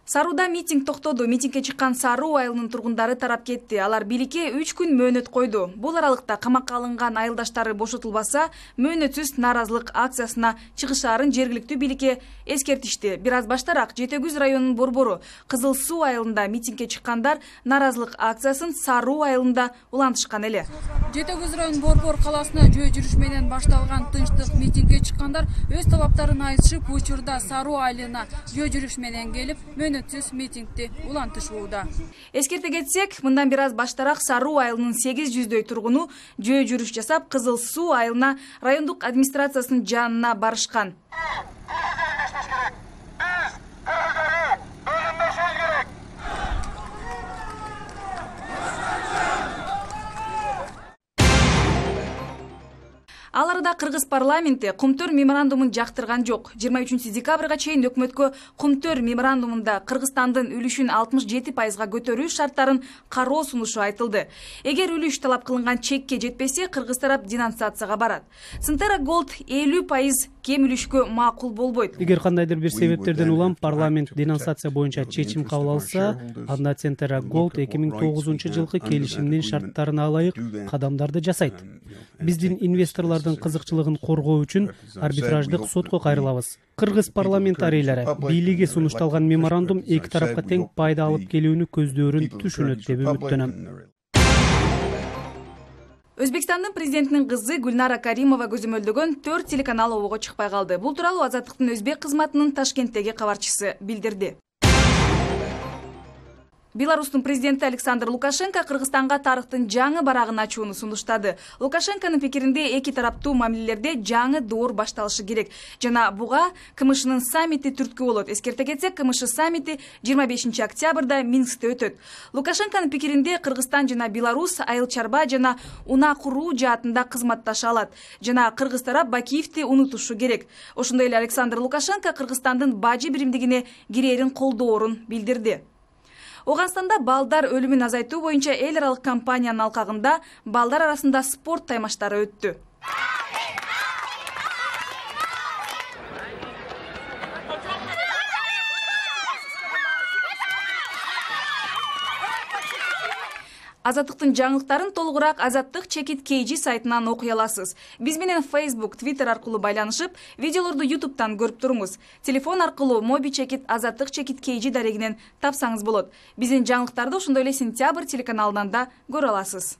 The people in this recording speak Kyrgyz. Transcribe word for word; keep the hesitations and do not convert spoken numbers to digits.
Саруда митинг токтоду. Митингге чыккан Саруу айылынын тургундары тарап кетти. Алар бийликке үч күн мөөнөт койду. Бул аралыкта камакка алынган айылдаштары бошотулбаса, мөөнөтсүз нааразылык акциясына чыгышаарын жергиликтүү бийликке эскертишти. Бир аз баштараак Жети Күз районунун борбору Кызыл Суу айылында митингге чыккандар нааразылык акциясын Саруу айылында улантышкан эле. Жети Күз районунун борбор калаасына жөө жүрүш менен башталган тынчтык митингге чыккандар өз талаптарын айтышып, учурда Саруу айылына жөө жүрүш менен келип, мөөнөтсүз митингди улантышууда. Эскерте кетсек, мындан бир аз баштараак Саруу айылынын сегиз жүздөй тургуну жөө жүрүш жасап, Кызыл Суу айылына райондук администрациясынын жанына барышкан. Ал арада Кыргыз парламенти Кумтөр меморандумун жактырган жок. жыйырма үчүнчү декабрга чейин өкмөткө Кумтөр меморандумунда Кыргызстандын үлүшүн алтымыш жети пайызга көтөрүү шарттарын кароо сунушу айтылды. Эгер үлүш талап кылынган чекке жетпесе, кыргыз тарап денонсацияга барат. Синтера Голд элүү пайыз кем үлүшкө макул болбойт. Эгер кандайдыр бир себептерден улам парламент денонсация боюнча чечим кабыл алса, анда Синтера Голд эки миң тогузунчу жылкы келишимдин шарттарына ылайык кадамдарды жасайт. Биздин инвесторлордун кызыкчылыгын коргоо үчүн арбитраждык сотко кайрылабыз. Кыргыз парламентарийлери бийликке сунушталган меморандум эки тарапка тең пайда алып келүүнү көздөөрүн түшүнөт деп үмүттөнөм. Өзбекстандын президентинин кызы Гүлнара Каримова көзөмөлдөгөн төрт телеканал обого чыкпай калды. Бул тууралуу Азаттыктын өзбек кызматынын Ташкенттеги кабарчысы билдирди. Беларустун президенти Александр Лукашенко Кыргызстанга тарыхтын жаңы барагын ачууну сунуштады. Лукашенконун пикиринде эки тараптуу мамилелерде жаңы доор башталышы керек жана буга КМШнын саммити түрткү болот. Эскерте кетсек, КМШ саммити жыйырма бешинчи октябрда Минскте өтөт. Лукашенконун пикиринде Кыргызстан жана Беларусь айыл чарба жана унаа куруу жаатында кызматташа алат жана кыргыз тарап Бакиевди унутушу керек. Ошондой эле Александр Лукашенко Кыргызстандын бажы биримдигине кирээрин колдоорун билдирди. Оганстанда балдар өлүмүн азайтуу боюнча эл аралык кампаниянын алкагында балдар арасында спорт таймаштары өттү. Азаттыктын жаңылыктарын толугураак Азаттык чекит kg сайтынан окуй аласыз. Биз менен Facebook, Twitter аркылуу байланышып, видеолорду YouTube'дан көрүп туруңуз. Телефон аркылуу Моби чекит Азаттык чекит kg дарегинен тапсаңыз болот. Биздин жаңылыктарды ошондой эле Сентябрь телеканалынан да көрө аласыз.